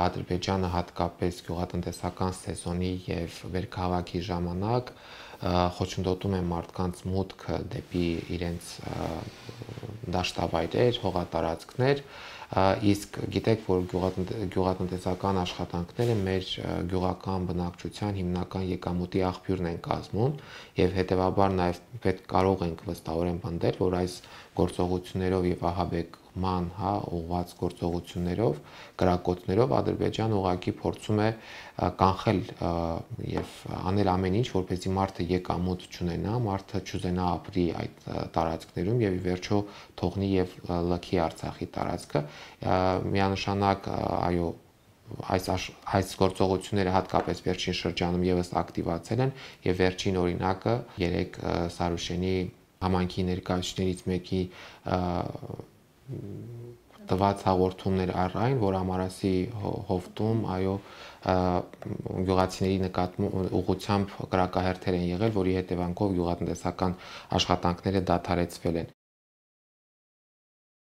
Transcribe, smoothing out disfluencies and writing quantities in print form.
Ադրբեջանը հատկապես գյուղատնտեսական սեզոնի եւ վերքաղաքի ժամանակ խոչընդոտում է մարդկանց մուտքը դեպի իրենց դաշտավայրեր, հողատարածքներ, իսկ գիտեք, որ գյուղատնտեսական աշխատանքները մեր գյուղական բնակչության հիմնական եկամուտի աղբյուրն են կազմում եւ հետեւաբար նաեւ պետք կարող ենք վստահորեն պնդել, որ այս գործողություններով եւ ահաբեկման, ուղղված գործողություններով, կրակոցներով Ադրբեջանը ուղղակի փորձում է կանխել եւ անել ամեն ինչ, որպեսզի մարդը եկամուտ չունենա, մարդը չուզենա ապրի այդ տարածքներում եւ ի վերջո թողնի եւ լքի Արցախի տարածքը, միանշանակ այո այս գործողությունները հատկապես վերջին շրջանում եւս ակտիվացել են եւ վերջին օրինակը երեք Սարուշենի համայնքի ներկայացուցիչներից մեկի տված հաղորդումներ առ այն, որ Ամարասի հովտում այո գյուղացիների ուղղությամբ կրակահերթեր են եղել, որի հետևանքով գյուղատնտեսական աշխատանքները դադարեցվել են։